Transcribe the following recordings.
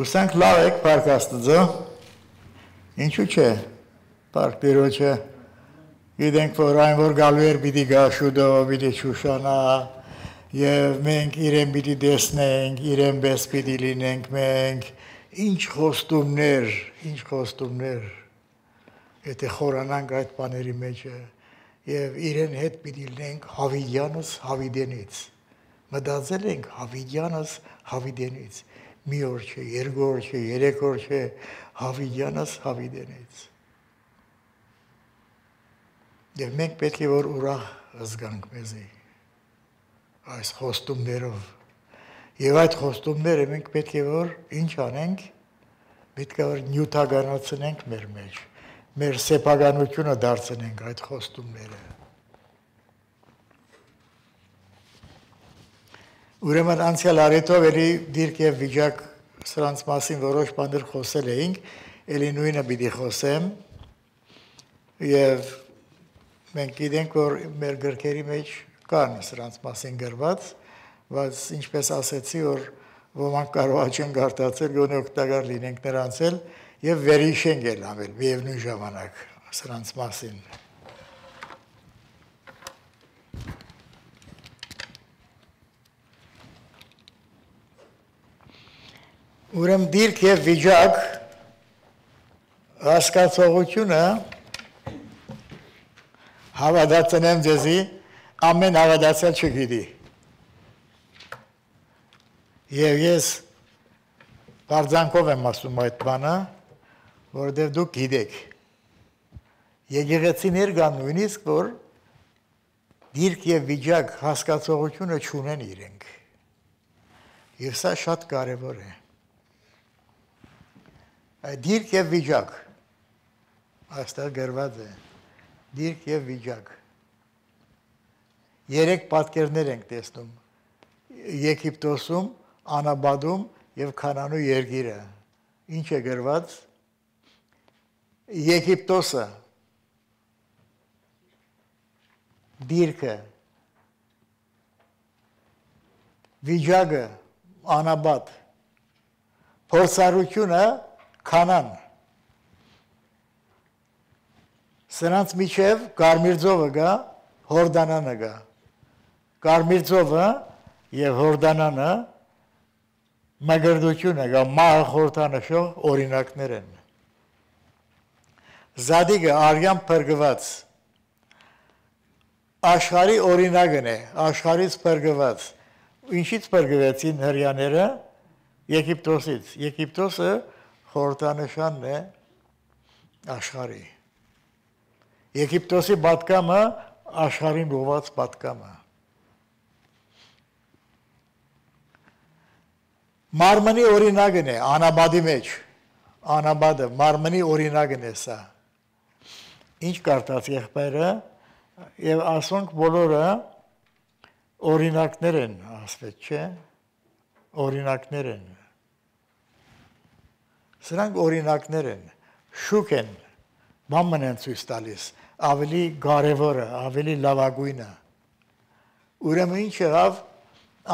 Ուսանք լավ եք, պարկ աստծո, ինչու չէ, պարկ տիրոջը, գիտենք, որ այն որ գալու էր պիտի գա շուտով, պիտի շուշանա, և մենք իրեն պիտի տեսնենք, իրեն պես պիտի լինենք մենք, ինչ խոստումներ, եթե խորանանք այդ բաների մեջը, և իրեն հետ պիտի լինենք Հավիդյանս Հավիդենից, մտածել ենք Հավիդյանս Հավիդենից, մի օր չէ, երկու օր չէ, երեք օր չէ, Հավիդյանս Հավիդենից։ Եվ մենք պետք է որ ուրախ զգանք մեզի այս խոստումներով։ Եվ այդ խոստումները մենք պետք է որ ինչ անենք, պետք է որ նյութականացնենք մեր մեջ, մեր սեփականությունը դարձնենք այդ խոստումները։ Ուրեմն անցյալ առիթով էլի դիրք և վիճակ սրանց մասին որոշ բաներ խոսել էինք, էլի նույնը պիտի խոսեմ, և մենք գիտենք, որ մեր գրքերի մեջ կան սրանց մասին գրված, բայց ինչպես ասեցի, որ ոմանք կարող չեն կարդացել, գոնե օգտակար լինենք նրանց էլ, և վերհիշենք էլ անել, միևնույն ժամանակ սրանց մասին։ Ուրեմն դիրք և վիճակ հասկացողությունը հավատացնեմ ձեզի, ամեն հավատացյալ չգիտի։ Եվ ես բարձանքով եմ ասում այդ բանը, որովհետև դուք գիտեք։ Եկեղեցիներ կան նույնիսկ, որ դիրք և վիճակ հասկացողությունը չունեն իրենք։ Եվ սա շատ կարևոր է։ Դիրք և վիճակ, այստեղ գրված է, դիրք և վիճակ։ Երեք պատկերներ ենք տեսնում, Եգիպտոսում, Անաբադում և Քանանու երկիրը։ Ինչ է գրված, Եգիպտոսը, դիրքը, վիճակը, Անաբադ, փորձառությունը, Քանան, սրանց միջև Կարմիր ծովը գա, Հորդանանը գա, Կարմիր ծովը և Հորդանանը մգրդությունը գա, մահը խորհրդանշող օրինակներ են։ Զադիգը արյան փրկված, աշխարհի օրինակն է, աշխարհից փրկված, ինչից փրկվեցին հրեաները, Եգիպտոսից, Եգիպտոսը խորհրդանշանն է աշխարհի։ Եգիպտոսի պատգամը աշխարհին ուղղված պատգամը։ Մարմնի օրինակն է Անաբադի մեջ, Անաբադը մարմնի օրինակն է սա։ Ինչ կարդաց եղբայրը, և ասոնք բոլորը օրինակներ են, ասվեց, չէ, օրինակներ են։ Սրանք օրինակներ են, շուկ են, բամն են ցույց տալիս, ավելի կարևորը, ավելի լավագույնը։ Ուրեմն ինչ եղավ,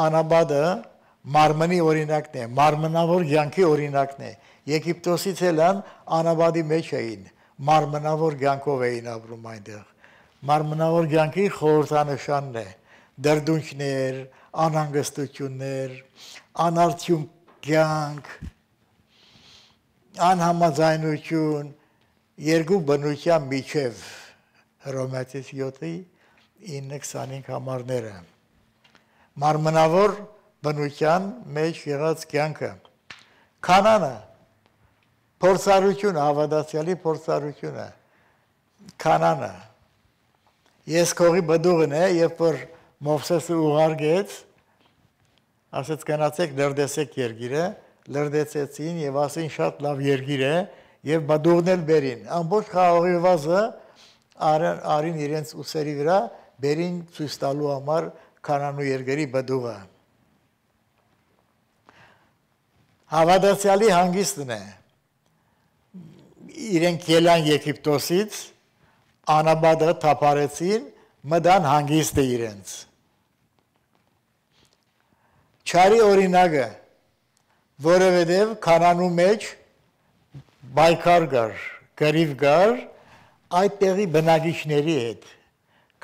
Անաբադը մարմնի օրինակն է, մարմնավոր կյանքի օրինակն է։ Եգիպտոսից ելան Անաբադի մեջ էին, մարմնավոր կյանքով էին ապրում այնտեղ։ Մարմնավոր կյանքի խորհրդանշանն է, դրդունքներ, անհանգստություններ, անարդյուն կյանք, անհամաձայնություն, երկու բնության միջև Հռոմեացիս 7:9-25 համարները։ Մարմնավոր բնության մեջ եղած կյանքը։ Քանանը, փորձառությունը, հավատացյալի փորձառությունը, Քանանը։ Ես քողի բդուղն է, երբ որ Մովսեսը ուղարկեց, ասեց գնացեք լրդեսեք երկիրը, լրդեցեցին և ասին շատ լավ երկիր է, և բդուղն էլ բերին։ Ամբողջ խաղողի վազը արին իրենց ուսերի վրա, բերին ցույց տալու համար Քանանու երկրի բդուղը։ Հավատացյալի հանգիստն է։ Իրենք ելան Եգիպտոսից, Անաբադը թափարեցին, մտան հանգիստը իրենց։ Չարի օրինակը, որովհետև Քանանու մեջ բայկար կար, գարիվ կար այդ տեղի բնակիչների հետ,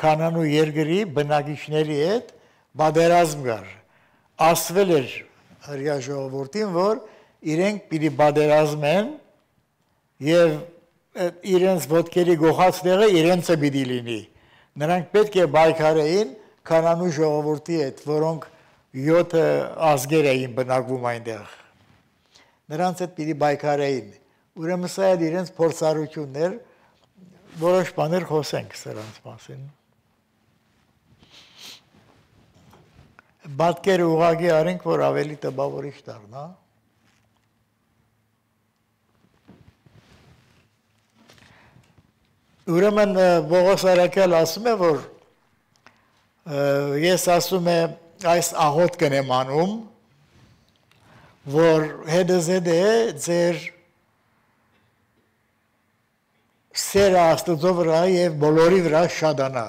Քանանու երկրի բնակիչների հետ բادرազմ կար, ասվել էր հրյա ժողովրդին, որ իրենք պիտի բادرազմեն և իրենց ոտքերի գողած տեղը իրենցը պիտի լինի, նրանք պետք է բայկարեին Քանանու ժողովրդի հետ, որոնք 7 ազգեր էին բնակվում այնտեղ, նրանց հետ պիտի բայկարեին, ուրեմն սա էլ իրենց փորձառություններ, որոշ բաներ խոսենք սրանց մասին։ Պատկերը ուղղակի արենք, որ ավելի տպավորիչ դառնա։ Ուրեմն Պողոս Արաքյալ ասում է, որ ես ասում եմ այս աղոտ կնեմ անում, որ հետզհետե ձեր սերը Աստծո վրա և բոլորի վրա շատանա,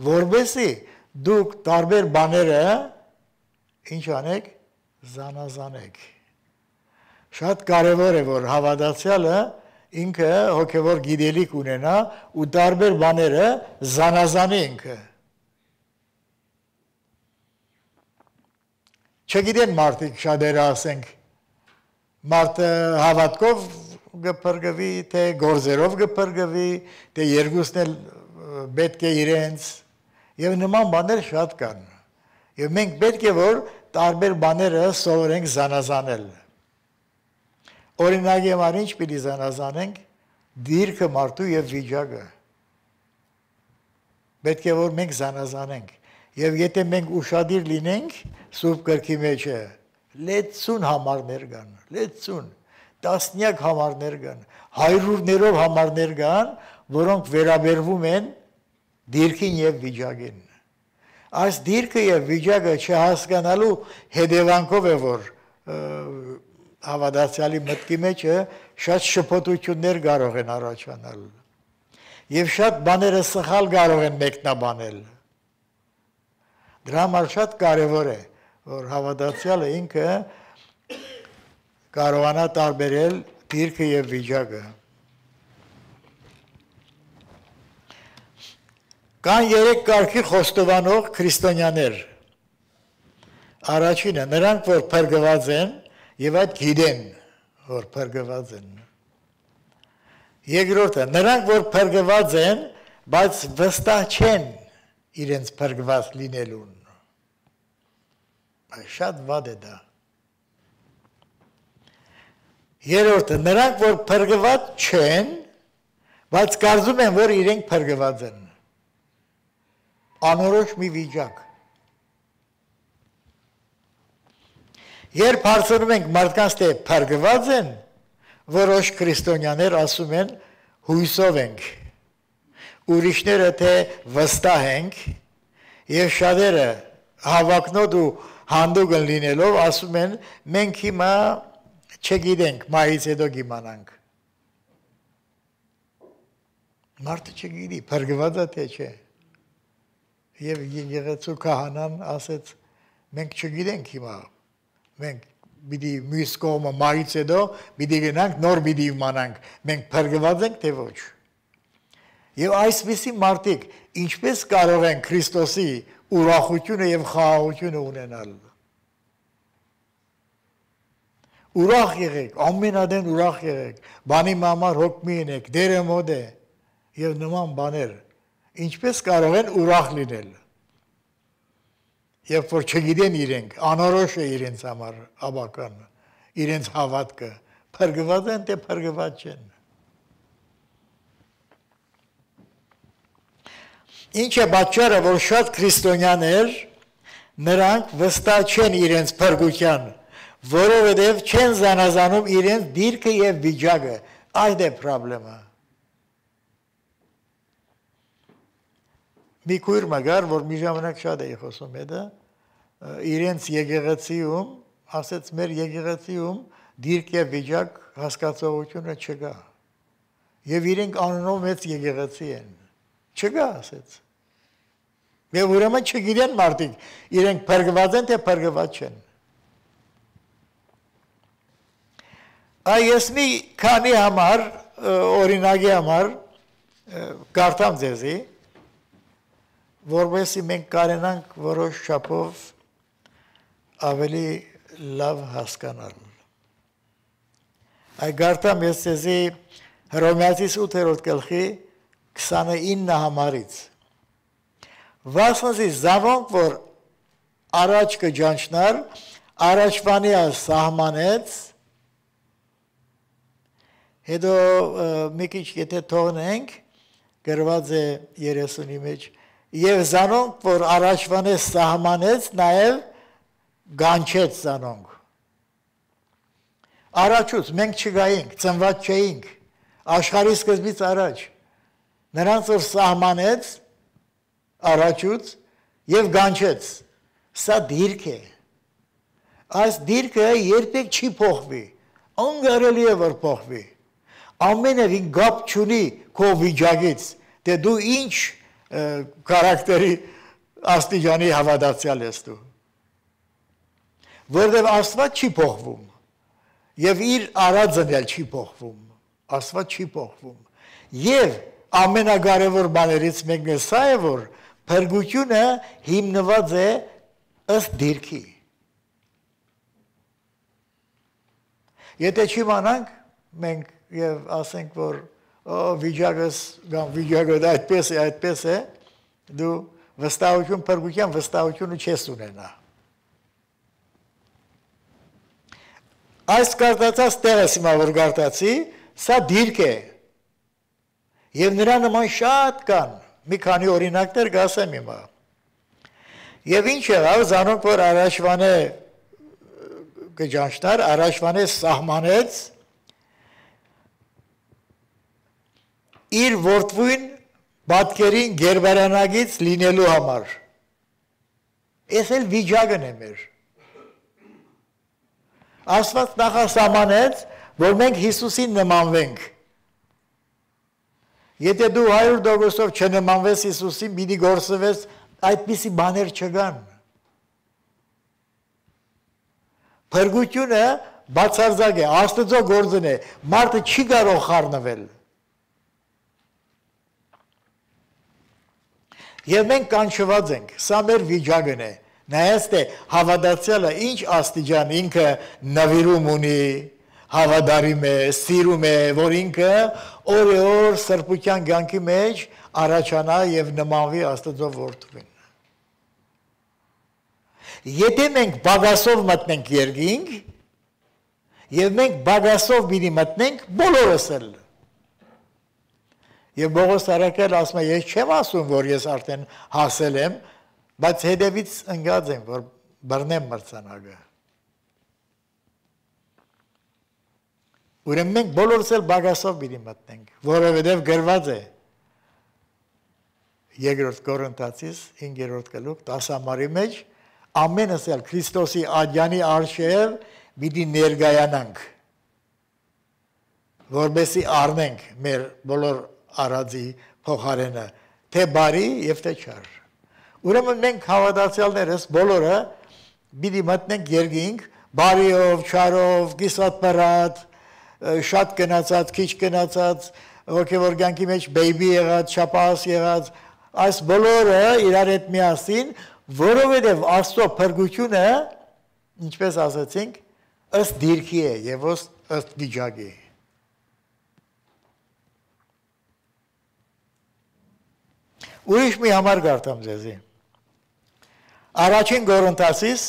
որպեսզի դուք տարբեր բաները ինչ անեք, զանազանեք։ Շատ կարևոր է, որ հավատացյալը ինքը հոգևոր գիտելիք ունենա ու տարբեր բաները զանազանի ինքը։ Չգիտեն մարդիկ շատերը ասենք, մարդը հավատքով գպրգվի, թե գործերով գպրգվի, թե երկուսն էլ պետք է իրենց, և նման բաներ շատ կան։ Եվ մենք պետք է, որ տարբեր բաները սովորենք զանազանել։ Օրինակ համար ինչ պիտի զանազանենք, դիրքը մարդու և վիճակը։ Պետք է, որ մենք զանազանենք։ Եվ եթե մենք ուշադիր լինենք Սուրբ գրքի մեջը, լեցուն համարներ կան, լեցուն, տասնյակ համարներ կան, հարյուրներով համարներ կան, որոնք վերաբերվում են դիրքին և վիճակին։ Այս դիրքը և վիճակը չհասկանալու հետևանքով է, որ հավատացյալի մտքի մեջը շատ շփոթություններ կարող են առաջանալ և շատ բաները սխալ կարող են մեկնաբանել։ Դրա համար շատ կարևոր է, որ հավատացյալը ինքը կարողանա տարբերել դիրքը և վիճակը։ Կան 3 կարգի խոստովանող քրիստոնյաներ։ Առաջինը նրանք, որ փրկված են և այդ գիտեն, որ փրկված են։ Երկրորդը նրանք, որ փրկված են, բայց վստահ չեն իրենց փրկված լինելուն։ Շատ վատ է դա։ Երրորդը նրանք, որ փրկված չեն, բայց կարծում են, որ իրենք փրկված են։ Անորոշ մի վիճակ։ Երբ հարցնում ենք մարդկանց, թե փրկված են, որոշ քրիստոնյաներ ասում են հույսով ենք, ուրիշները թե վստահ ենք, և շատերը հավակնոտ ու հանդուգն լինելով ասում են մենք հիմա չգիտենք, մահից հետո կիմանանք։ Մարդը չգիտի, փրկված է թե չէ։ Եվ եկեղեցու քահանան ասեց, մենք չգիտենք հիմա, մենք պիտի մյուս կողմը մահից հետո պիտի գնանք, նոր պիտի իմանանք, մենք փրկված ենք թե ոչ։ Եվ այսպիսի մարդիկ ինչպես կարող են Քրիստոսի ուրախությունը և խաղաղությունը ունենալ։ Ուրախ եղեք, ամենադեն ուրախ եղեք, բանի համար հոգ մի ենեք, դերը մոտ է և նման բաներ, ինչպես կարող են ուրախ լինել։ Երբ որ չգիտեն իրենք, անորոշ է իրենց համար ավական, իրենց հավատքը, փրկված են, թե փրկված չեն։ Ինչ է պատճառը, որ շատ քրիստոնյաներ նրանք վստահ չեն իրենց փրկության, որովհետև չեն զանազանում իրենց դիրքը և վիճակը, այդ է պրոբլեմը։ Մի քույր մգար, որ մի ժամանակ շատ էի խոսում հետը, իրենց եկեղեցիում, ասեց մեր եկեղեցիում դիրք և վիճակ հասկացողությունը չկա։ Եվ իրենք անունով մեծ եկեղեցի են։ Չկա, ասեց։ Եվ ուրեմն չգիտեն մարդիկ, իրենք փրկված են, թե փրկված չեն։ Այս մի քանի համար օրինակի համար կարդամ ձեզի, որովհետեւ մենք կարենանք որոշ չափով ավելի լավ հասկանալ։ Այ կարդամ ես ձեզի Հռոմեացիս 8-րդ գլխի 29 համարից։ Վասնզի զավոնք, որ առաջ կջանչնար, առաջվանի սահմանեց, հետո մի քիչ եթե թողնենք, գրված է 30-ի մեջ, եւ զանոնք, որ առաջվանը սահմանեց, նաեւ գանչեց զանոնք։ Առաջուց մենք չգայինք, ծնված չէինք, աշխարհի սկզբից առաջ։ Նրանց որ սահմանեց առաջուց եւ գանչեց։ Սա դիրք է։ Այս դիրքը երբեք չի փոխվի։ Անգարելի է որ փոխվի։ Ամենևին գապ չունի քո վիճակից, թե դու ինչ քարակտերի աստիճանի հավատացյալ ես դու։ Որտեղ Աստված չի փոխվում եւ իր արածն էլ չի փոխվում, Աստված չի փոխվում։ Եվ ամենակարևոր բաներից մեկն է սա է, որ փրկությունը հիմնված է ըստ դիրքի։ Եթե չիմանանք, մենք եւ ասենք, որ վիճակը այդպես է, դու վստահություն, փրկության վստահությունը չես ունենա։ Այս կարտացած տեղս հիմա որ կարտացի, սա դիրք է։ Եվ նրա նման շատ կան, մի քանի օրինակներ կասեմ հիմա։ Եվ ինչ եղավ, զանոնք որ առաջվանը կջանչնար, առաջվանը սահմանեց իր որդվույն պատկերին գերբարանագից լինելու համար։ Ես էլ վիճակն է մեր։ Աստված նախասահմանեց, որ մենք Հիսուսին նմանվենք։ Եթե դու 100%-ով չնմանվես Հիսուսին, պիտի գործվես, այդպիսի բաներ չկան։ Փրկությունը բացարձակ է, Աստծո գործն է, մարդը չի կարող խառնվել։ Եվ մենք կանչված ենք, սա մեր վիճակն է։ Նայած թե հավատացյալը ինչ աստիճան ինքը նվիրում ունի, հավատարիմ է, սիրում է, որ ինքը օր սրբության կյանքի մեջ առաջանա եւ նմանվի Աստծո որդուն։ Եթե մենք բագասով մտնենք երկինք, եւ մենք բագասով պիտի մտնենք բոլորս էլ։ Եվ Պողոս Արաքել ասում է, ես չեմ ասում, որ ես արդեն հասել եմ, բայց հետևից ընկած եմ, որ բռնեմ մրցանակը։ Ուրեմն մենք բոլորս էլ բագասով պիտի մտնենք, որովհետև գրված է Երկրորդ Կորինթացիս 5-րդ գլուխ 10 համարի մեջ ամենս էլ Քրիստոսի աջանի արշև պիտի ներկայանանք, որովհետև առնենք մեր բոլոր արածի փոխարենը, թե բարի եւ թե չար։ Ուրեմն մենք հավատացյալներս բոլորը պիտի մտնենք երկինք, բարիով, չարով, կիսատ-պռատ, շատ գնացած, քիչ գնացած, հոգևոր կյանքի մեջ բեյբի եղած, չափահաս եղած, այս բոլորը իրար հետ միասին, որովհետև Աստծո փրկությունը, ինչպես ասացինք, ըստ դիրքի է եւ ըստ վիճակի։ Ուրիշ մի համար կարդամ ձեզի։ Առաջին Կորինթացիս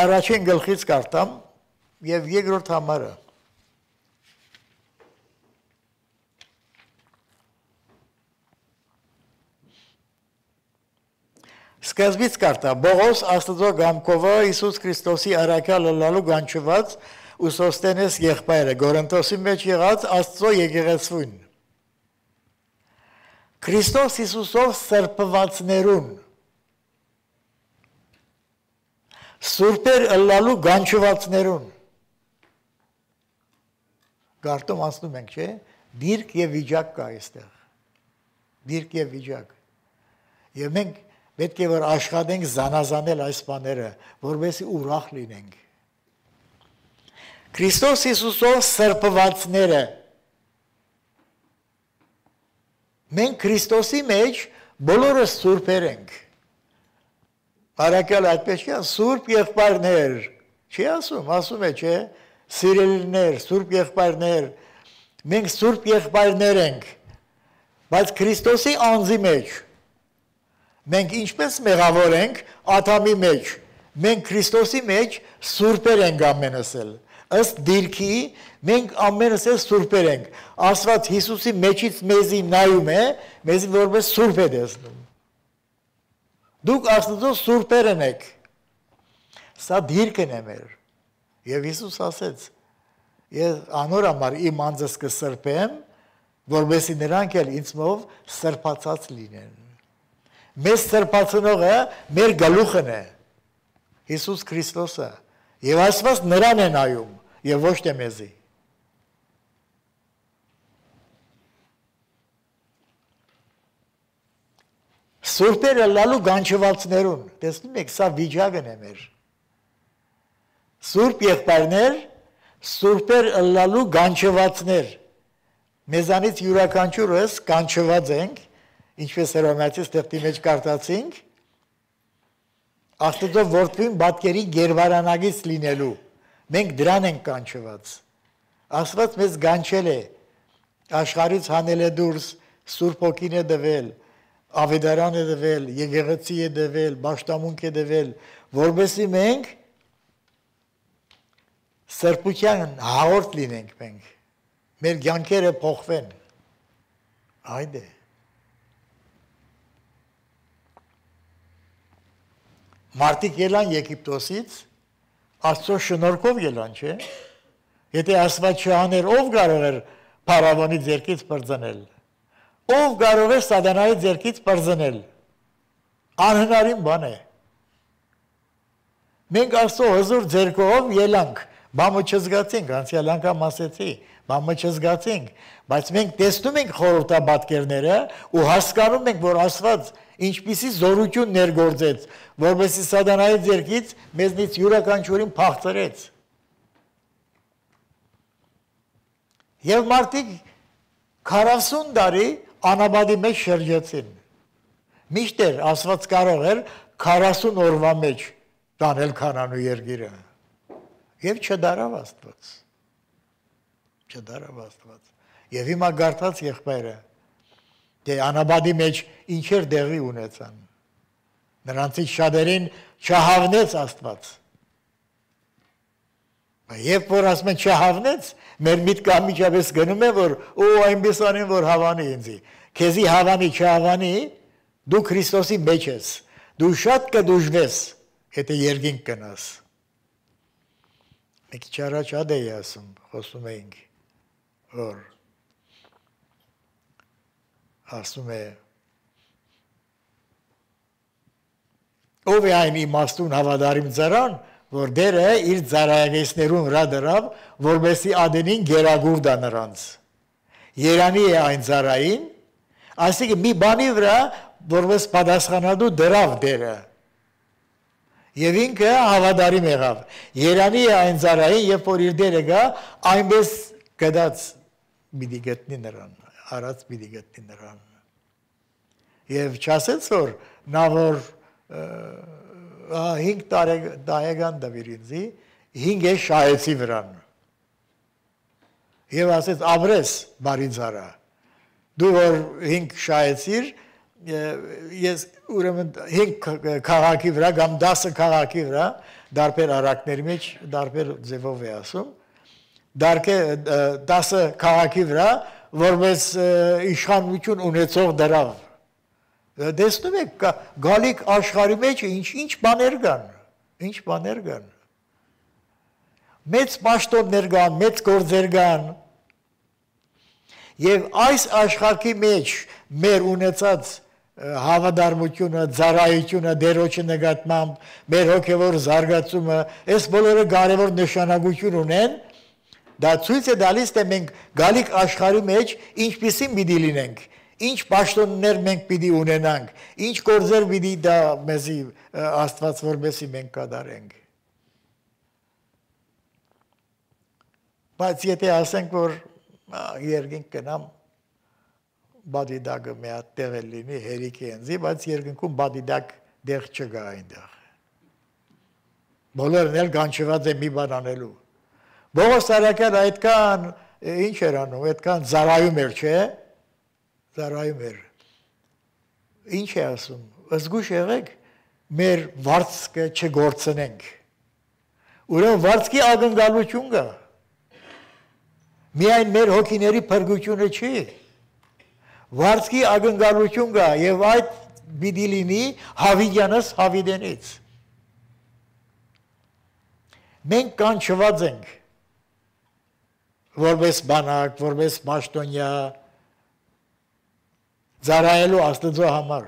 առաջին գլխից կարդամ եւ երկրորդ համարը։ Սկզբից կարդա Բողոս Աստծո գամքովը Հիսուս Քրիստոսի առաքյալ լալու գանչված ու Սոստենես եղբայրը Կորինթոսի մեջ եղած Աստծո եկեղեցուն Քրիստոս Հիսուսով սրբվածներուն սուրբեր ըլլալու գանչվածներուն Գարտում անցնում ենք, չէ՞, դիրք եւ վիճակ կա այստեղ։ Դիրք եւ վիճակ։ Եվ մենք պետք է որ աշխատենք զանազանել այս բաները, որովհետեւ ուրախ լինենք։ Քրիստոս Հիսուսով սրբվածները մենք Քրիստոսի մեջ բոլորս սուրբեր ենք։ Արաքյալ այդպես չի, սուրբ եղբայրներ, չի ասում է, չէ, սիրելիներ, սուրբ եղբայրներ, մենք սուրբ եղբայրներ ենք, բայց Քրիստոսի անձի մեջ մենք ինչպես մեղավոր ենք Ադամի մեջ, մենք Քրիստոսի մեջ սուրբեր ենք ամենս էլ, ըստ դիրքի մենք ամենս էլ սուրբեր ենք, Աստված Հիսուսի մեջից մեզի նայում է, մեզի որպես սուրբ է տեսնում։ Դուք Աստծո սուրբերն եք, սա դիրքն է մեր, և Հիսուս ասեց, ես անոր համար իմ անձս կսրբեմ, որովհետեւ նրանք էլ ինձմով սրբացած լինեն։ Մեզ սրբացնողը մեր գլուխն է, Հիսուս Քրիստոսը, և Աստված նրան է նայում, և ոչ թե մեզի։ Սուրբերը լալու գանչվածներուն, տեսնում եք, սա վիճակն է մեր։ Սուրբ եղբայրներ, սուրբեր լալու գանչվածներ, մեզանից յուրաքանչյուրս կանչված ենք, ինչպես Հռոմեացիս թղթի մեջ կարդացինք, Աստծո որդին պատկերի գերվարանագից լինելու, մենք դրան ենք կանչված։ Աստված մեզ կանչել է, աշխարհից հանել է դուրս, Սուրբ Հոգին է տվել, ավետարան է տվել, եկեղեցի է տվել, պաշտամունք է տվել, որովհետեւ մենք սրբության հաղորդ լինենք մենք, մեր կյանքերը փոխվեն, այդ է։ Մարդիկ ելան Եգիպտոսից, Աստծո շնորհքով ելան, չէ։ Եթե Աստված չաներ, ով կարող էր փարավոնի ձեռքից բռնել, ով կարող էր սատանայի ձեռքից բռնել, անհնարին բան է։ Մենք Աստծո հզոր ձեռքով ելանք, բամը չզգացինք, անցյալ անգամ ասեցի, բամը չզգացինք, բայց մենք տեսնում ենք խորհրդապատկերները ու հասկանում ենք, որ Աստված ինչպիսի զորություն ներգործեց, որովհետեւ սատանայի ձեռքից մեզնից յուրաքանչյուրին փախցրեց։ Եվ մարդիկ 40 տարի անաբադի մեջ շրջեցին։ Միշտեր Աստված կարող էր 40 օրվա մեջ տանել Քանանու երկիրը։ Եվ չդարավ Աստված։ Չդարավ Աստված։ Եվ հիմա գարտած եղբայրը, թե անաբադի մեջ ինչեր դեղի ունեցան։ Նրանցից շատերին չհավնեց Աստված։ Եվ որ ասում են չհավնեց, մեր միտքը անմիջապես գնում է, որ այնպես անեն, որ հավանի ինձի։ Քեզի հավանի, չհավանի, դու Քրիստոսի մեջ ես, դու շատ կդժվես, եթե երկինք կնաս։ Մեկ քիչ առաջ ադե ասում, խոսում էինք, որ ասում է, ով է այն իմաստուն հավատարիմ ծառան, որ դերը իր ծառայագեսներուն վրա դրավ, որպեսզի ադենին գերագուրդա նրանց։ Երանի է այն ծառային, այսինքն մի բանի վրա, որպես պատասխանատու դրավ դերը։ Եվ ինքը հավատարիմ եղավ։ Երանի է այն ծառային, երբ որ իր դերը գա, այնպես գդած պիտի գտնի նրան, արած պիտի գտնի նրան։ Եվ չասեց, որ նա որ 5 տարեկան դավիր ինձի, 5 է շահեցի վրան։ Եվ ասեց, ապրես բարի ծառա, դու որ 5 շահեցիր, ես ուրեմն 5 քաղաքի վրա, կամ 10 քաղաքի վրա, դարբեր առակների մեջ, դարբեր ձևով է ասում, 10 քաղաքի վրա, որպես իշխանություն ունեցող դրավ։ Տեսնում եք, գալիք աշխարհի մեջ ինչ բաներ կան, մեծ պաշտոններ կան, մեծ գործեր կան, եւ այս աշխարհի մեջ մեր ունեցած հավատարմությունը, ծառայությունը, դերոջի նկատմամբ, մեր հոգեվոր զարգացումը, այս բոլորը կարևոր նշանակություն ունեն, դա ցույց է տալիս, թե մենք գալիք աշխարհի մեջ ինչպիսին պիտի լինենք, ինչ պաշտոններ մենք պիտի ունենանք, ինչ գործեր պիտի դա մեզի Աստված որպեսզի մենք կատարենք։ Բայց եթե ասենք, որ երկինք գնամ, բադիդակը մի հատ տեղ լինի, հերիքի ենզի, բայց երկինքում բադիդակ դեղ չկա այնտեղ։ Բոլորն էլ գանչված է մի բան անելու։ Բողոս Սարակյանը այդքան ինչ էր անում, այդքան զարայում էր, չէ՞։ Զարայում էր։ Ինչ է ասում, զգուշ եղեք, մեր վարձքը չգործնենք։ Ուրեմն վարձքի ակնկալություն կա։ Միայն մեր հոգիների փրկությունը չի։ Վարձքի ակնկալություն կա եւ այդ պիտի լինի հավիտյանս հավիտենից։ Մենք կանչված ենք որպես բանակ, որպես պաշտոնյա ծառայելու Աստծո համար։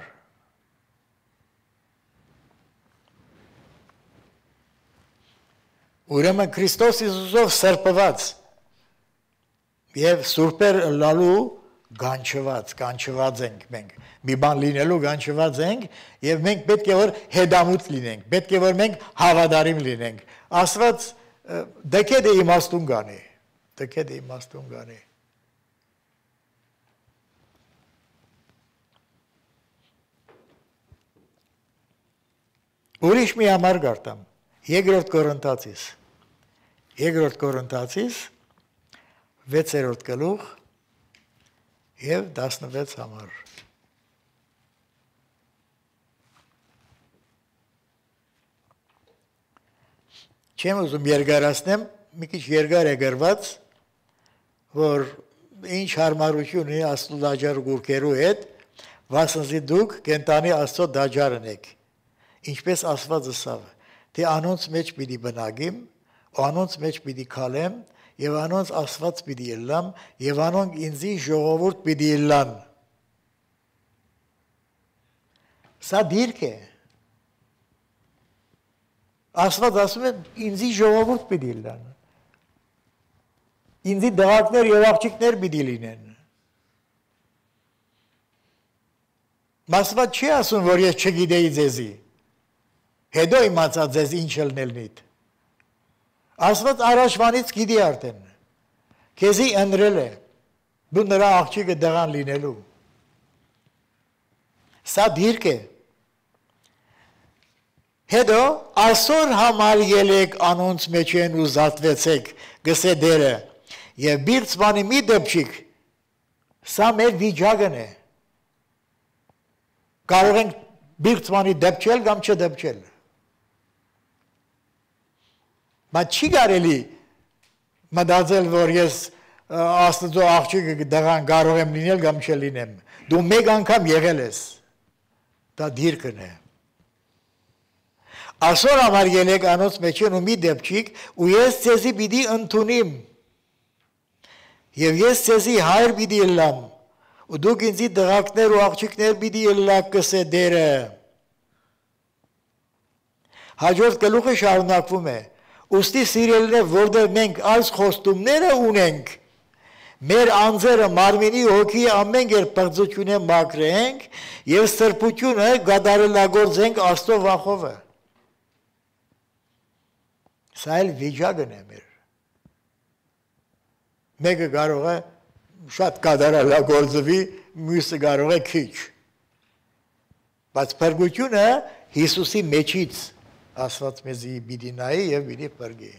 Ուրեմն Քրիստոս Հիսուսով սրբված եւ սուրբեր լալու կանչված ենք մենք։ Մի բան լինելու կանչված ենք եւ մենք պետք է որ հետամուտ լինենք, պետք է որ մենք հավատարիմ լինենք։ Աստված դեկետ է իմաստուն գանի, դեկետ է իմաստուն գանի։ Ուրիշ մի համար գարտամ, երկրորդ Կորինթացիս, 6-րդ գլուխ եւ 16 համար։ Չեմ ուզում երկարացնեմ, մի քիչ երկար է գրված, որ ինչ հարմարություն ունի Աստծո դաջար գուրքերու հետ, վասնզի դուք կենտանի Աստծո դաջարն եք։ Ինչպես Աստված ասավ, թե անոնց մեջ պիտի բնակիմ, անոնց մեջ պիտի քալեմ, եւ անոնց Աստված պիտի ելամ, եւ անոնք ինձի ժողովուրդ պիտի ելան։ Սա դիրք է։ Աստված ասում է ինձի ժողովուրդ պիտի ելան։ Ինձի դղակներ եւ աղջիկներ պիտի լինեն։ Աստված չի ասում, որ ես չգիտեի ձեզի։ Հետո իմացա ձեզ ինչ ելնելնիդ։ Աստված առաջվանից գիտի արդեն։ Քեզի ընտրել է։ Դու նրա աղջիկը դղան լինելու։ Սա դիրք է։ Հետո այսօր համար ելեք անոնց մեջ են ու զատվեցեք, գսե դերը, եւ բիրծվանի մի դեպչիկ, սա մեր վիճակն է։ Կարող ենք բիրծվանի դեպչել կամ չդեպչել։ Բայց չի կարելի մտածել, որ ես Աստծո աղջիկը դղան կարող եմ լինել կամ չլինեմ։ Դու մեկ անգամ եղել ես։ Դա դիրքն է։ Այսօր համար ելեք անոնց մեջ են ու մի դեպչիկ, ու ես ձեզի պիտի ընդունիմ։ Եվ ես ձեզի հայր պիտի ելամ, ու դուք ինձի դղակներ ու աղջիկներ պիտի ելակ կսե դերը։ Հաջորդ գլուխը շարունակվում է։ Ուստի սիրելիներ, որտեղ մենք այս խոստումները ունենք, մեր անձերը մարմինի հոգի ամեն կերպ պղծությունը մաքրենք եւ սրբությունը գադարելագործենք Աստծո վախովը։ Սա էլ վիճակն է մեր։ Մեկը կարող է շատ գադարելագործվի, մյուսը կարող է քիչ։ Բայց փրկությունը Հիսուսի մեջից Աստված մեզի պիտի նայի եւ պիտի փրկի։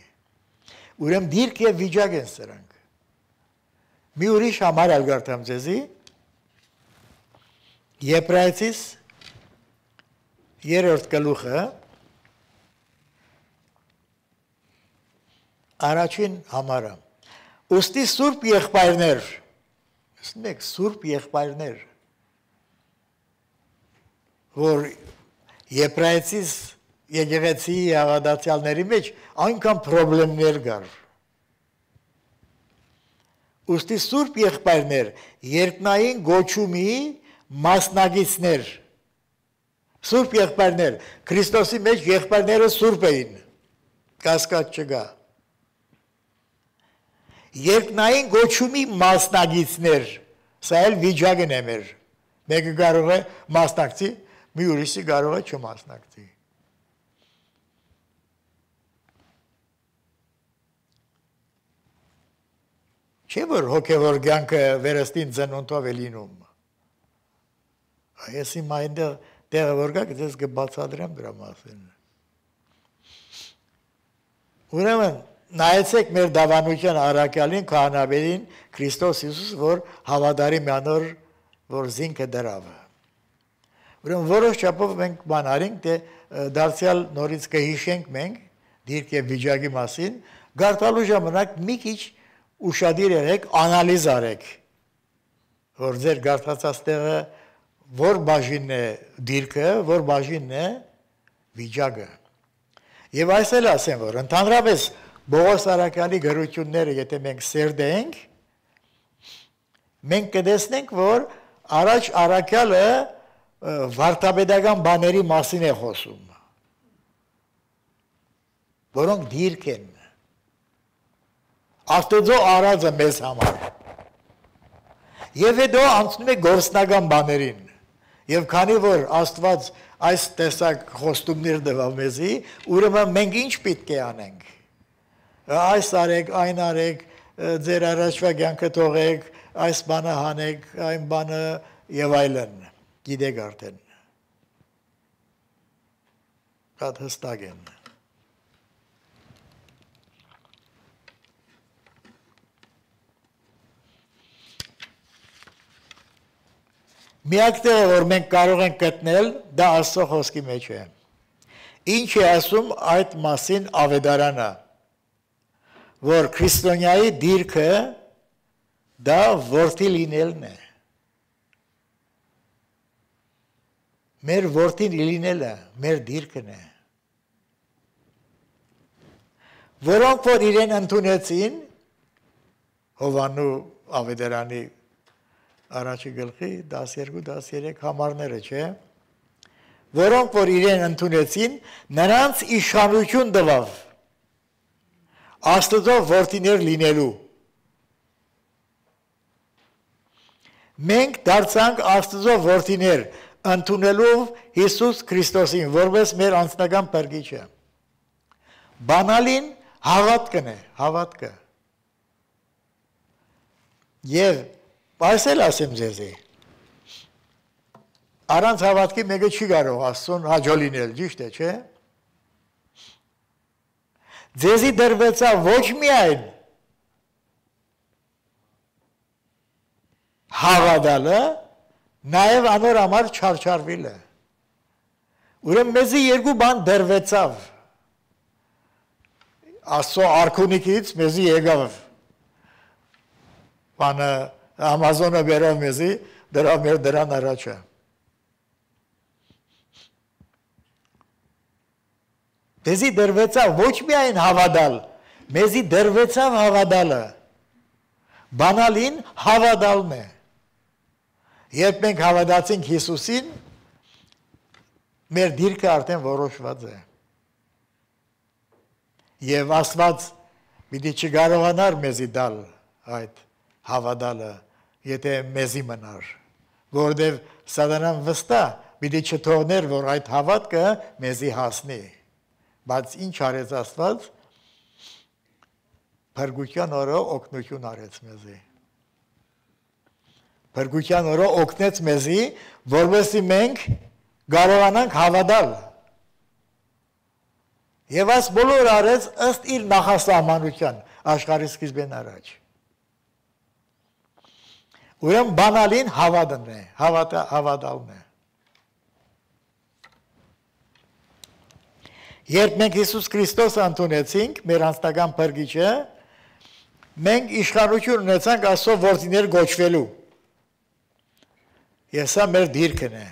Ուրեմն դիրք եւ վիճակ են սրանք։ Մի ուրիշ համար ալգարտամ ձեզի Եբրայեցիս 3-րդ գլուխը առաջին համարը։ Ուստի սուրբ եղբայրներ, սուրբ եղբայրներ, որ Եբրայեցիս եկեղեցի հավատացյալների մեջ այնքան խնդիրներ կար։ Ուստի սուրբ եղբայրներ, երկնային գոչումի մասնագետներ, սուրբ եղբայրներ, Քրիստոսի մեջ եղբայրները սուրբ էին, կասկած չկա։ Երկնային գոչումի մասնագետներ, սա էլ վիճակն է մեր, Մեկը կարող է մասնակցի, մի ուրիշը կարող է չմասնակցի։ Չէ՞ որ հոգևոր կյանքը վերստին ծնունդով է լինում։ Այս իմ այնտեղ տեղը որ գա, դες կբացատրեմ դրա մասին։ Ուրեմն նայեցեք մեր դավանության առաքյալին, քահանաբերին Քրիստոս Հիսուս, որ հավատարի մանոր, որ զինքը դրավ։ Ուրեմն որոշ չափով մենք բան արինք, թե դարձյալ նորից կհիշենք մենք դիրք եւ վիճակի մասին, գարտալու ժամանակ մի քիչ ուշադիր եղեք, անալիզ արեք, որ ձեր գարտացած տեղը որ բաժինն է դիրքը, որ բաժինն է վիճակը։ Եվ այս էլ ասեմ, որ ընդհանրապես Բողոս առաքյալի գրությունները, եթե մենք սերդենք, մենք կտեսնենք, որ առաջ առաքյալը վարդապետական բաների մասին է խոսում, որոնք դիրք են, Աստծո արածը մեզ համար, և հետո անցնում է գործնական բաներին, և քանի որ Աստված այս տեսակ խոստումներ տվավ մեզի, ուրեմն մենք ինչ պետք է անենք, այս արեք, այն արեք, ձեր առաջվա կյանքը թողեք, այս բանը հանեք, այն բանը եւ այլն, գիտեք արդեն։ Շատ հստակ են։ Միակ տեղը, որ մենք կարող ենք գտնել, դա Աստծո խոսքի մեջ է։ Ինչ է ասում այդ մասին Ավետարանը, որ քրիստոնյայի դիրքը դա որդի լինելն է։ Մեր որդին լինելը մեր դիրքն է։ Որոնք որ իրեն ընդունեցին, Հովանու Ավետարանի առաջի գլխի 12-13 համարները, չէ, որոնք որ իրեն ընդունեցին, նրանց իշխանություն տվավ Աստծո որդիներ լինելու։ Մենք դարձանք Աստծո որդիներ ընդունելով Հիսուս Քրիստոսին, որպես մեր անձնական փրկիչը։ Բանալին հավատքն է, հավատքը։ Եվ այս էլ ասեմ ձեզի, առանց հավատքի մեկը չի կարող Աստծուն հաջող լինել, ճիշտ է, չէ՞։ Ձեզի դրվեցավ ոչ միայն հավատալը, նաև անոր համար չարչարվելը։ Ուրեմն մեզի երկու բան դրվեցավ։ Աստծո արքունիքից մեզի եկավ բանը Ամազոնը բերավ մեզի, դրավ մեր դրան առաջը։ Մեզի դրվեցավ ոչ միայն հավատալ, մեզի դրվեցավ հավատալը։ Բանալին հավատալն է։ Երբ մենք հավատացինք Հիսուսին, մեր դիրքը արդեն որոշված է։ Եվ Աստված պիտի չկարողանար մեզի դալ այդ հավատալը, եթե մեզի մնար, որովհետև սատանան վստահ պիտի չթողներ, որ այդ հավատքը մեզի հասնի, բայց ինչ արեց Աստված, փրկության օրը օգնություն արեց մեզի, փրկության օրը օգնեց մեզի, որովհետև մենք կարողանանք հավատալ, եւ այս բոլորը արեց ըստ իր նախասահմանության աշխարհի սկիզբեն առաջ։ Ուրեմն բանալին հավատն է, հավատալն է։ Երբ մենք Հիսուս Քրիստոսը ընդունեցինք, մեր անձնական փրկիչը, մենք իշխանություն ունեցանք Աստծո որդիներ գոչվելու։ Եվ սա մեր դիրքն է։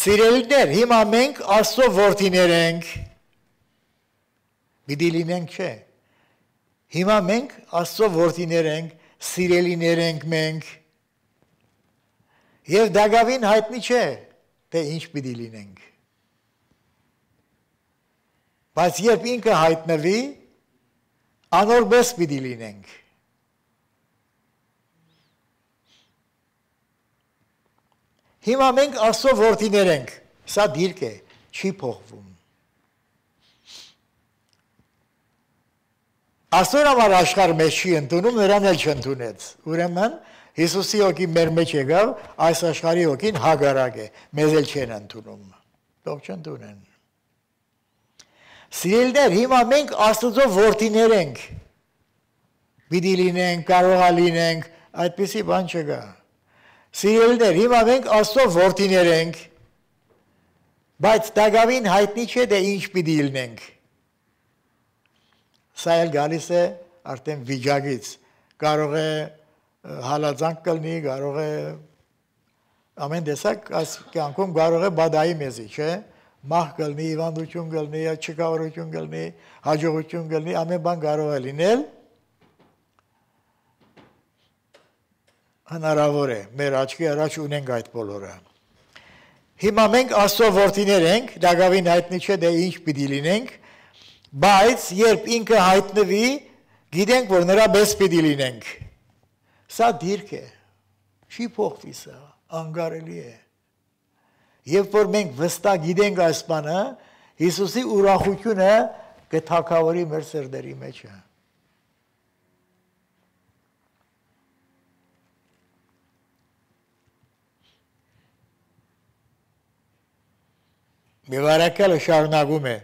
Սիրելիներ, հիմա մենք Աստծո որդիներ ենք, պիտի լինենք չէ։ Հիմա մենք Աստծո որդիներ ենք, սիրելիներ ենք մենք, և դակավին հայտնի չէ, թե ինչ պիտի լինենք։ Բայց երբ ինքը հայտնվի, անորպես պիտի լինենք։ Հիմա մենք Աստծո որդիներ ենք, սա դիրք է, չի փոխվում։ Աստծո համար աշխարհը մեզ չի ընդունում, նրան էլ չընդունեց։ Ուրեմն Հիսուսի հոգի մեր մեջ եկավ, այս աշխարհի հոգին հագարակ է, մեզ էլ չեն ընդունում։ Թող չընդունեն։ Սիրելիներ, հիմա մենք Աստծո որդիներ ենք։ Պիտի լինենք, կարող է լինենք, այդպիսի բան չկա։ Սիրելիներ, հիմա մենք Աստծո որդիներ ենք, բայց դակավին հայտնի չէ, թե ինչ պիտի լինենք։ Սա էլ գալիս է արդեն վիճակից, կարող է հալածանք կլինի, կարող է ամեն տեսակ այս կյանքում կարող է բադայի մեզի, չէ՞։ Մահ կլինի, հիվանդություն կլինի, չկավորություն կլինի, հաջողություն կլինի, ամեն բան կարող է լինել։ Հնարավոր է, մեր աչքի առաջ ունենք այդ բոլորը։ Հիմա մենք Աստծո որդիներ ենք, դակավին հայտնի չէ, թե ինչ պիտի լինենք, բայց երբ ինքը հայտնվի, գիտենք, որ նրա պես պիտի լինենք։ Սա դիրք է, չի փոխվի սա, անկարելի է։ Երբ որ մենք վստահ գիտենք այս բանը, Հիսուսի ուրախությունը կթագավորի մեր սրտերի մեջ է։ Միվարակալը շարունակում է։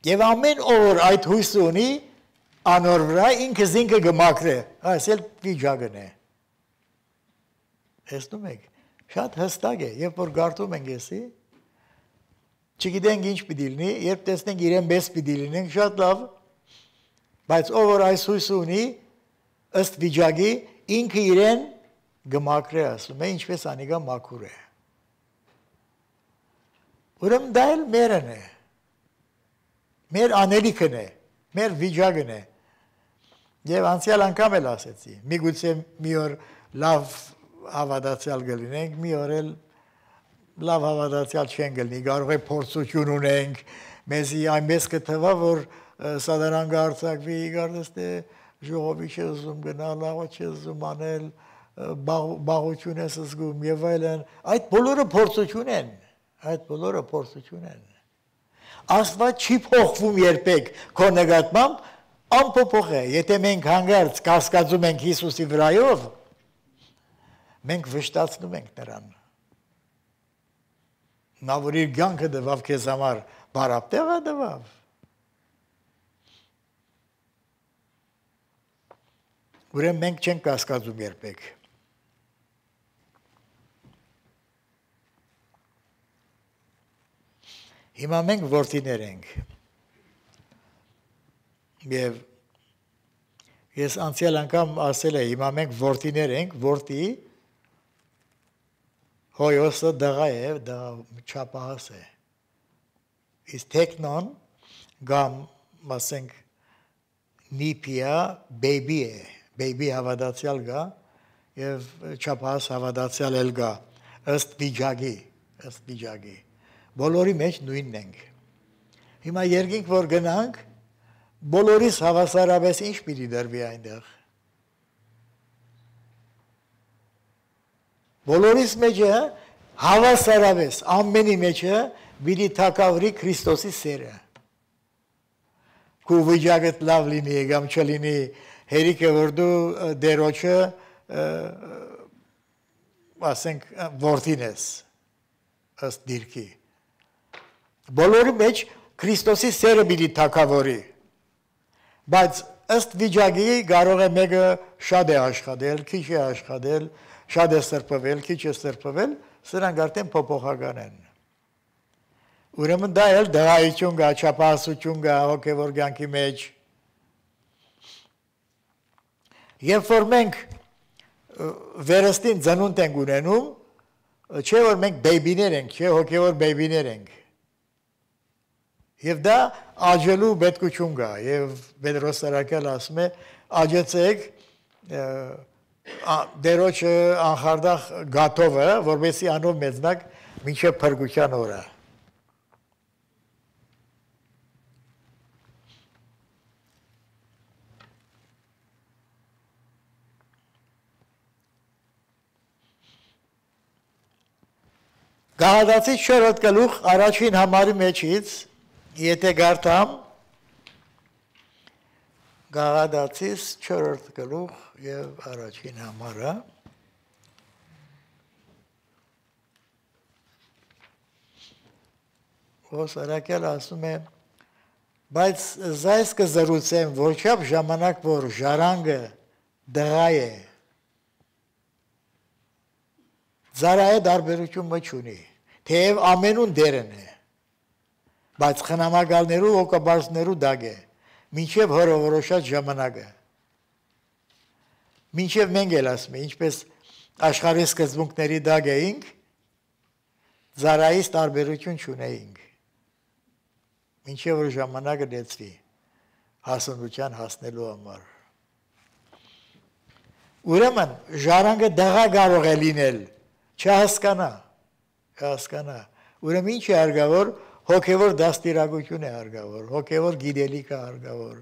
Եվ ամեն օր այդ հույսը ունի, անոր վրա ինքը զինքը գմակրե, այս էլ վիճակն է։ Տեսնում եք, շատ հստակ է, երբ որ գարտում ենք եսի, չգիտենք ինչ պիտի լինի, երբ տեսնենք իրեն պես պիտի լինենք, շատ լավ, բայց ով որ այս հույսը ունի, ըստ վիճակի, ինքը իրեն գմակրե ասում է, ինչպես անիկա մաքուր է։ Ուրեմն դա էլ մերն է, մեր անելիքն է, մեր վիճակն է։ Եվ անցյալ անգամ էլ ասեցի, միգուցե մի օր լավ հավատացյալ կլինենք, մի օր էլ լավ հավատացյալ չեն կլինի, կարող է փորձություն ունենք, մեզի այնպես կթվա, որ սադարան կարձակվի, կարծես թե ժողովի չի ուզում գնալ, լավը չի ուզում անել, բաղություն ես զգում եւ այլն, այդ բոլորը փորձություն են, այդ բոլորը փորձություն են։ Աստված չի փոխվում երբեք քո նկատմամբ, անփոփոխ է, եթե մենք հանգարց կասկածում ենք Հիսուսի վրայով, մենք վշտացնում ենք նրան։ Նա որ իր կյանքը տվավ քեզ համար, բարապ տեղը տվավ։ Ուրեմն մենք չենք կասկածում երբեք։ Հիմա մենք որդիներ ենք։ Եվ ես անցյալ անգամ ասել եմ, հիմա մենք որդիներ ենք, որդի հոյոսը դղա է, դա չափահաս է։ Իսկ տեքնոն գամ, ասենք, նիպիա բեյբի է, բեյբի հավատացյալ գա եւ չափահաս հավատացյալ էլ գա, ըստ վիճակի։ Բոլորի մեջ նույնն ենք։ Հիմա երկինք որ գնանք, բոլորիս հավասարապես ինչ պիտի դրվի այնտեղ։ Բոլորիս մեջը հավասարապես ամենի մեջը պիտի թակավորի Քրիստոսի սերը։ Քու վիճակդ լավ լինի, կամ չլինի, հերիքը որ դու դերոջը ասենք որդին ես, ըստ դիրքի։ Բոլորի մեջ Քրիստոսի սերը պիտի թակավորի, բայց ըստ վիճակի կարող է մեկը շատ է աշխատել, քիչ է աշխատել, շատ է սրբվել, քիչ է սրբվել, սրանք արդեն փոփոխական են։ Ուրեմն դա էլ դղայություն կա, չափահասություն կա հոգևոր կյանքի մեջ։ Երբ որ մենք վերստին ծնունդ ենք ունենում, չէ որ մենք բեյբիներ ենք, չէ հոգևոր բեյբիներ ենք։ Եվ դա աջելու պետքություն կա, եւ Պետրոս Սարակյալը ասում է, աջեցեք դերոջը անխարդախ գաթովը, որովհետեւ անով մեծնակ մինչև փրկության օրը։ Գաղադացից 4-րդ գլուխ առաջին համարի մեջից, եթե գարտամ, Գաղադացից 4-րդ գլուխ և առաջին համարը, Ոսարակել ասում է, բայց զայս կզրուցեմ, որչապ ժամանակ, որ ժարանգը դղա է, զարայե դարբերություն մը չունի, թեև ամենուն դերն է, բայց խնամագալներու հոգաբարձներու դագ է, մինչև հորովորոշած ժամանակը, մինչև մենք էլ ասում է, ինչպես աշխարհի սկզբունքների դագ էինք, զարայից տարբերություն չունեինք, մինչև որ ժամանակը լեցվի, հասունության հասնելու համար։ Ուրեմն, ժարանգը դղա կարող է լինել, չհասկանա, ուրեմն ինչ է հարգավոր, հոգևոր դաստիարակություն է հարգավոր, հոգևոր գիտելիք է հարգավոր,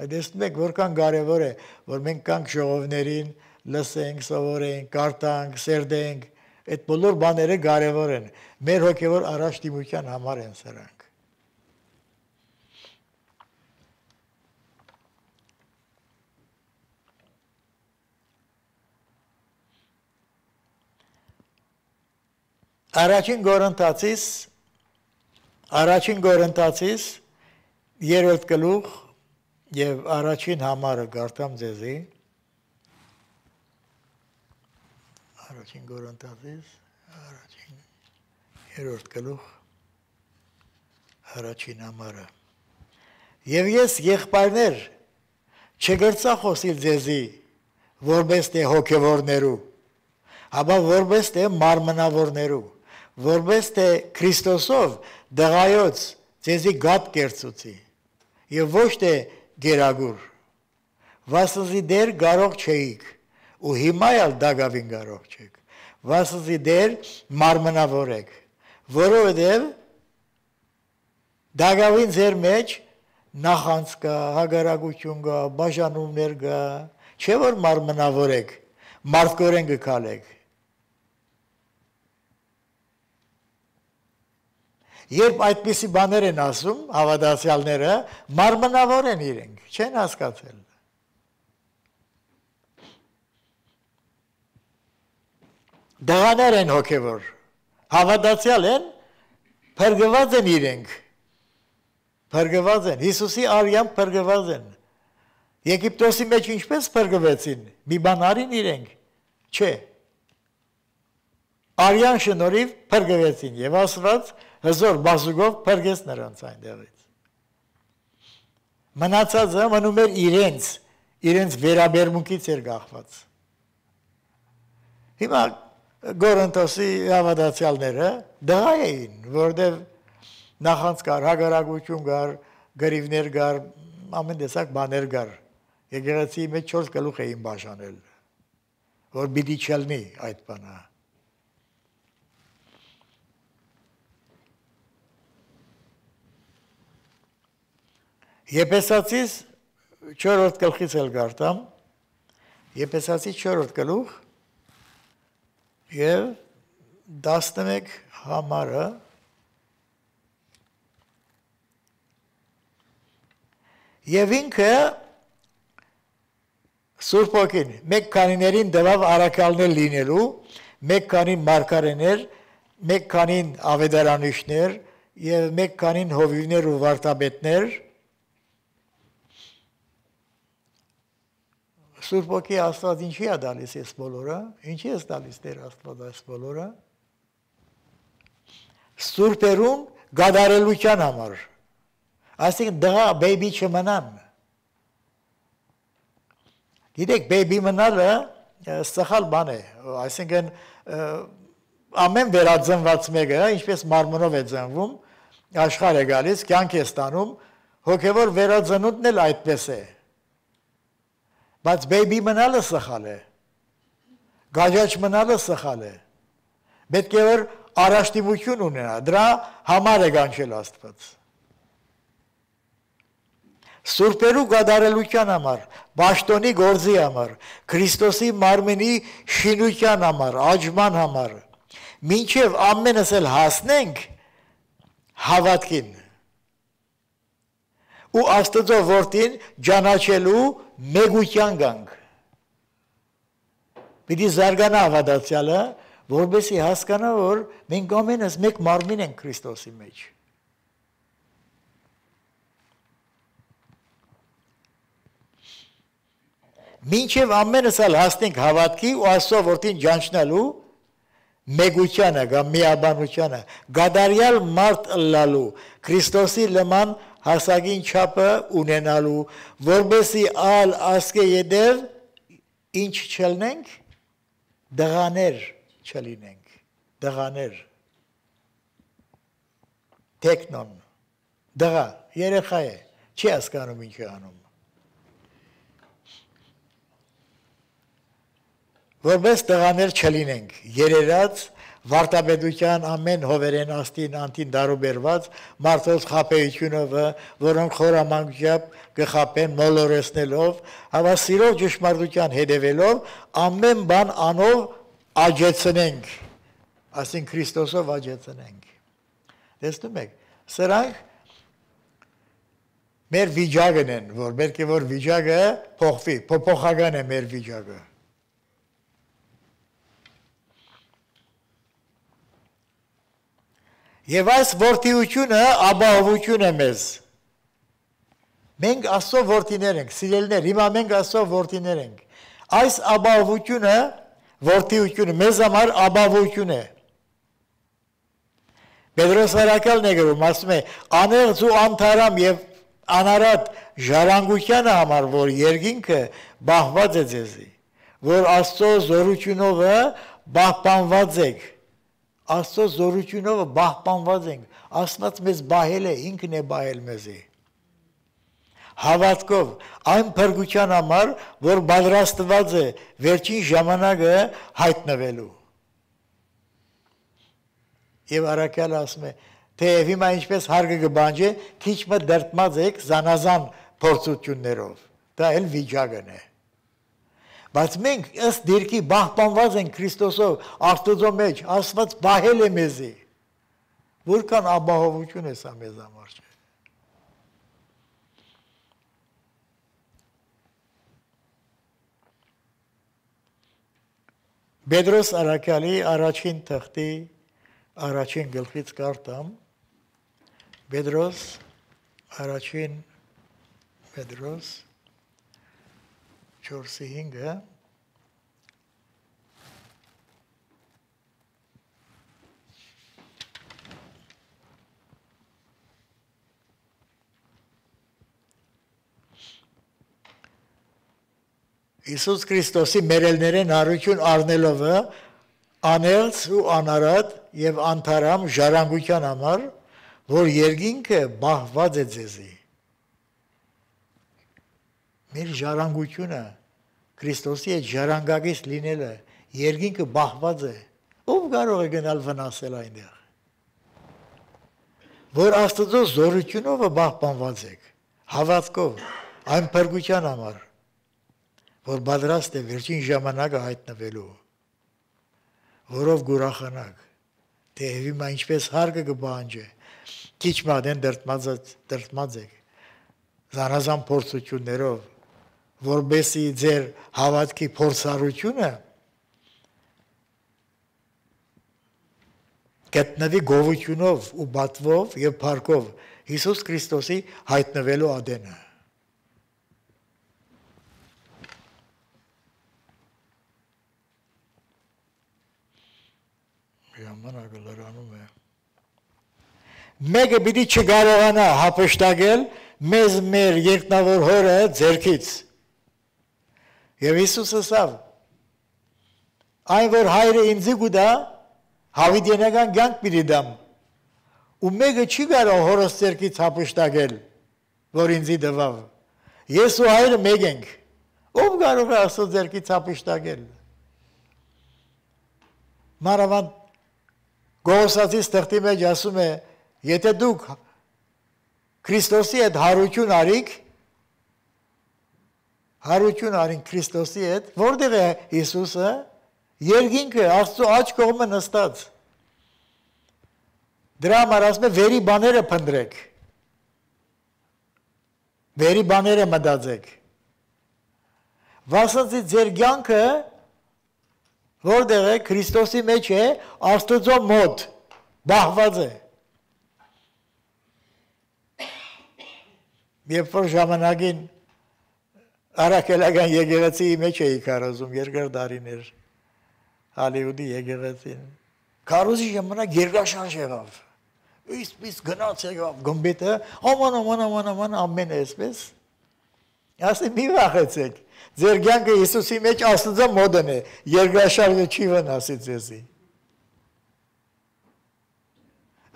այդ տեսնում եք, որքան կարևոր է, որ մենք կանք ժողովներին, լսենք, սովորենք, կարդանք, սերդենք, այդ բոլոր բաները կարևոր են, մեր հոգևոր առաջադիմության համար են սրանք։ Առաջին Գորընթացից 3-րդ գլուխ եւ առաջին համարը գարտամ ձեզի առաջին Գորընթացից 3-րդ գլուխ առաջին համարը եւ ես եղբայրներ չգրծա խոսիլ ձեզի որպես թե հոգեվորներու հաբա որպես թե մարմնավորներու որպես թե Քրիստոսով դղայոց ձեզի գատ կերծուցի եւ ոչ թե գերագուր վասզի դեր կարող չէիք ու հիմա էլ դագավին կարող չեք վասզի դեր մարմնավոր եք որովհետեւ դագավին ձեր մեջ նախանց կա հագարակություն կա բաժանումներ կա չէ որ մարմնավոր եք մարդկորեն գքալեք Երբ այդպիսի բաներ են ասում, հավատացյալները, մարմնավոր են իրենք, չեն հասկացել։ Դղաներ են հոգևոր, հավատացյալ են, փրկված են իրենք, փրկված են, Հիսուսի արյամբ փրկված են։ Եգիպտոսի մեջ ինչպես փրկվեցին, մի բան արին իրենք, չէ։ Արյան շնորհիվ փրկվեցին եւ Աստված հզոր բազուկով փրկեց նրանց այնտեղից։ Մնացածը մնում էր իրենց վերաբերմունքից էր կախված։ Հիմա Գորընթոսի հավատացյալները դղա էին, որտեղ նախանց կար, հագարակություն կար, գրիվներ կար, ամեն տեսակ բաներ կար։ Եկեղեցիի մեջ 4 գլուխ էին բաժանել, որ պիտի չլինի այդ բանը։ Եփեսացիս 4-րդ գլխից էլ գարտամ, Եփեսացիս 4-րդ գլուխ եւ 11 համարը եւ ինքը Սուրբ Օքին մեկ քանիներին դվավ առաքյալներ լինելու, մեկ քանին մարգարեներ, մեկ քանին ավետարանիչներ եւ մեկ քանին հովիվներ ու վարդապետներ Սուրբ Օքի Աստված ինչի է դալիս այս բոլորը, ինչի է տալիս Տեր Աստված այս բոլորը, սուրբերուն գադարելության համար, այսինքն դղա բեյբի չմնան, գիտեք բեյբի մնալը սխալ բան է, այսինքն ամեն վերածնված մեկը, ինչպես մարմնով է ծնվում, աշխարհ է գալիս, կյանք է ստանում, հոգևոր վերածնունդն էլ այդպես է, բայց բեյբի մնալը սխալ է, գաջաջ մնալը սխալ է, պետք է որ առաջադիմություն ունենա, դրա համար է կանչել Աստված։ Սուրբերու գադարելության համար, պաշտոնի գործի համար, Քրիստոսի մարմնի շինության համար, աճման համար, մինչև ամենս էլ հասնենք հավատքին ու Աստծո որդին ճանաչելու մեգության գանք։ Պիտի զարգանա հավատացյալը, որովհետեւ հասկանա, որ մենք ամենս մեկ մարմին ենք Քրիստոսի մեջ։ Մինչև ամենս էլ հասնենք հավատքի ու Աստծո որդին ճանաչնալու մեգությանը, կամ միաբանությանը, գադարյալ մարդ ըլլալու, Քրիստոսի նման հասակին չափը ունենալու, որովհետեւ ալ ասկե յետև ինչ չլնենք, դղաներ չլինենք, դղաներ, տեքնոն, դղա, երեխա է, չի հասկանում ինչ է անում, որպես դղաներ չլինենք, երերած, վարտաբեդության ամեն հովերեն աստին անտին դարուբերված, մարդոց խապեյությունով, որոնք խորամանկությամբ կխապեն մոլորեսնելով, հավասիրով ճշմարտության հետևելով, ամեն բան անով աջեցնենք, ասին Քրիստոսով աջեցնենք։ Տեսնում եք, սրանք մեր վիճակն են, որ բերքի որ վիճակը փոխվի, փոփոխական է մեր վիճակը։ Եվ այս որդիությունը ապահովություն է մեզ։ Մենք Աստծո որդիներ ենք, սիրելիներ, հիմա մենք Աստծո որդիներ ենք։ Այս ապահովությունը, որդիությունը մեզ համար ապահովություն է։ Պետրոս Արաքյալն է գրում, ասում է, անեղծ ու անթարամ եւ անարատ ժառանգությանը համար, որ երկինքը բահված է ձեզի, որ Աստծո զորությունով բահբանված եք։ Աստծո զորությունով բահբանված ենք, Աստված մեզ բահել է, ինքն է բահել մեզի։ Հավատքով, այն փրկության համար, որ պատրաստված է վերջին ժամանակը հայտնվելու։ Եվ Արաքյալը ասում է, թե հիմա ինչպես հարգը կբանջի, քիչ մը դրտմած եք զանազան փորձություններով, դա էլ վիճակն է։ Բայց մենք ըստ դիրքի բահբանված ենք Քրիստոսով, Աստծո մեջ, Աստված բահել է մեզի։ Որքան ապահովություն է սա մեզ համար չէ։ Պետրոս Արաքյալի առաջին թղթի առաջին գլխից կարդամ, Պետրոս առաջին Պետրոս 4:5 Իսուս Քրիստոսի մերելներեն առություն առնելով անեղծ ու անարատ եւ անթարամ ժառանգության համար, որ երկինքը բահված է ձեզի։ Մեր ժառանգությունը Քրիստոսի հետ ժառանգակից լինելը երկինքը բահված է։ Ով կարող է գնալ վնասել այնտեղ։ Որ Աստծո զորությունով բահբանված եք, հավատքով, այն փրկության համար, որ պատրաստ է վերջին ժամանակը հայտնվելու, որով գուրախանակ, թե հիմա ինչպես հարգը կբանջի, քիչ մատեն դրտմած եք, զանազան փորձություններով, որբեսի ձեր հավատքի փորձառությունը գտնվի գովությունով ու բատվով եւ փառքով Հիսուս Քրիստոսի հայտնվելու ադենը։ Ժամանակը լրանում է։ Մեկը պիտի չկարողանա հափշտակել մեզ մեր երկնավոր հորը ձեռքից։ Եվ Հիսուսը ասավ. այն որ հայրը ինձի գուտա, հավիտենական կյանք պիտի դամ։ Ու մեկը չի կարող հորս ձեռքից հափշտակել, որ ինձի տվավ։ Ես ու հայրը մեկ ենք։ Ով կարող է Աստծո ձեռքից հափշտակել։ Մանավանդ Գողոսացի ստեղծի մեջ ասում է, եթե դուք Քրիստոսի հետ հարություն արին Քրիստոսի հետ, որտեղ է Հիսուսը, երկինքը Աստծո աջ կողմը նստած, Դրա համար ասում է վերի բաները փնտրեք։ Վերի բաները մտածեք։ Վասնցի ձեր կյանքը որտեղ է Քրիստոսի մեջ է, Աստծո մոտ բահված է։ Երբ որ ժամանակին Արաքելական եկեղեցիի մեջ էի քարոզում երկար տարիներ Հոլիվուդի եկեղեցին։ Քարոզի ժամանակ երկրաշարժ եղավ։ Իսպես գնաց եղավ գմբեթը, աման ամեն էսպես։ Ասի մի վախեցեք։ Ձեր կյանքը Հիսուսի մեջ Աստծո մոդն է, երկրաշարժը չի վնասի ձեզի։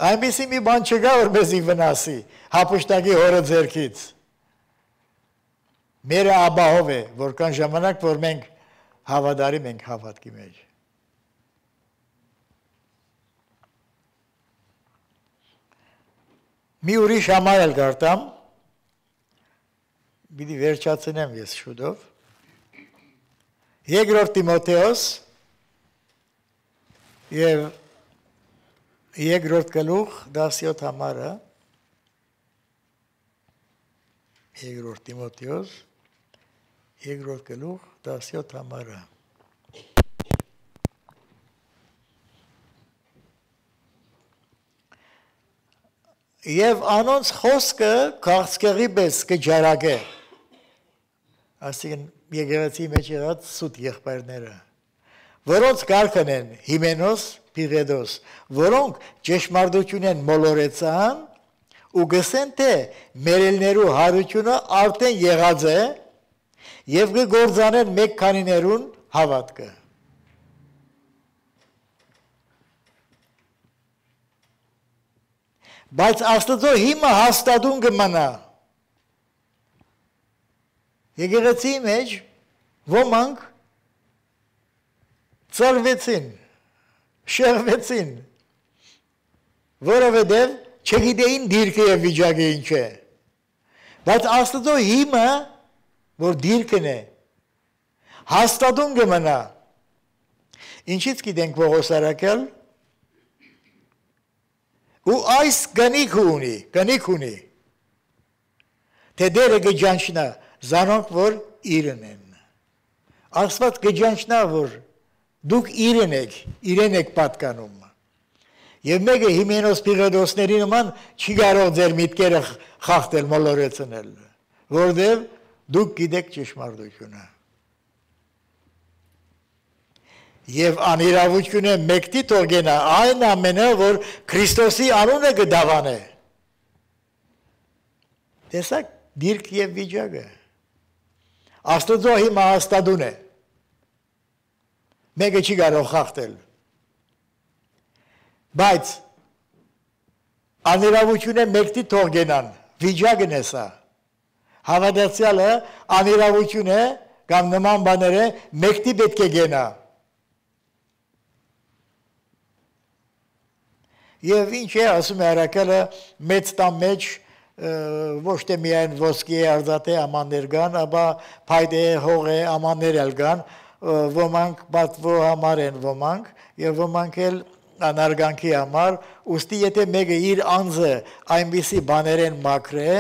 Այնպիսի մի բան չկա, որ մեզի վնասի, հափշտակի հորը ձեռքից։ Մերը աբահով է, որքան ժամանակ, որ մենք հավատարիմ ենք հավատքի մեջ։ Մի ուրիշ համար էլ գարտամ, պիտի վերջացնեմ ես շուտով։ Երկրորդ Տիմոթեոս եւ երկրորդ գլուխ 17 համարը երկրորդ Տիմոթեոս երկրորդ գլուխ 17 համարը Եվ անոնց խոսքը քաղցկեղի պես կջարագե։ Այսինքն եկեղեցի մեջ եղած սուտ եղբայրները, որոնց կարգն են Հիմենոս, Փիղեդոս, որոնք ճշմարտություն են մոլորեցան ու գսեն թե մերելներու հարությունը արդեն եղած է եւ կգործանեն մեկ քանիներուն հավատքը։ Բայց Աստծո հիմը հաստատուն կմնա։ Եկեղեցիի մեջ ոմանք ծալվեցին, շեղվեցին, որովհետև չգիտեին դիրքը եւ վիճակը ինչ է։ Բայց Աստծո հիմը, որ դիրքն է, հաստատուն կմնա։ Ինչից գիտենք Պողոս առաքյալ ու այս գնիկ ունի, թե դերը գջանչնա, զանոնք, որ իրեն են։ Աստված գջանչնա, որ դուք իրեն եք պատկանում։ Եվ մեկը Հիմենոս Փիղեդոսների նման չի կարող ձեր միտքերը խախտել, մոլորեցնել, որտև դուք գիտեք ճշմարտությունը։ Եվ անիրավությունը մեկտի թողնա այն ամենը, որ Քրիստոսի անունը կդավանե։ Տեսակ դիրք եւ վիճակը։ Աստծո հիմա հաստատուն է։ Մեկը չի կարող խախտել։ Բայց անիրավությունը մեկտի թողնան, վիճակն է սա։ Հավատացյալը անիրավություն է կամ նման բաները մեկտի պետք է գնա։ Եվ ինչ է, ասում է առաքելը, մեծ տան մեջ ոչ թե միայն ոսկի է արծաթե ամաններ կան, ապա փայտե հող է ամաններ էլ կան, ոմանք պատվո համար են ոմանք, եւ ոմանք էլ անարգանքի համար, ուստի եթե մեկը իր անձը այնպիսի բաներ են մաքրե,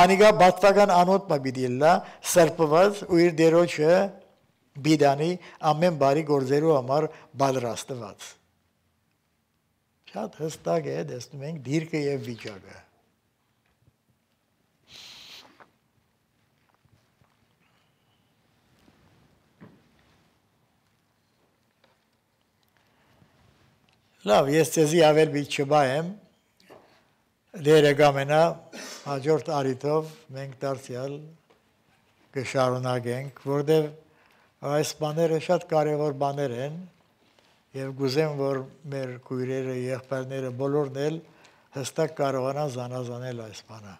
անիկա բատվական անոթ մը պիտի լա, սրբված ու իր դերոջը բիդանի ամեն բարի գործերու համար պատրաստված։ Շատ հստակ է, տեսնում ենք դիրքը եւ վիճակը։ Լավ, ես ձեզի ավել բիտ չբայեմ, դերը կամենա հաջորդ արիթով մենք դարձյալ կշարունակենք, որտեղ այս բաները շատ կարևոր բաներ են, եւ գուզեմ, որ մեր քույրերը, եղբայրները բոլորն էլ հստակ կարողանան զանազանել այս բանը։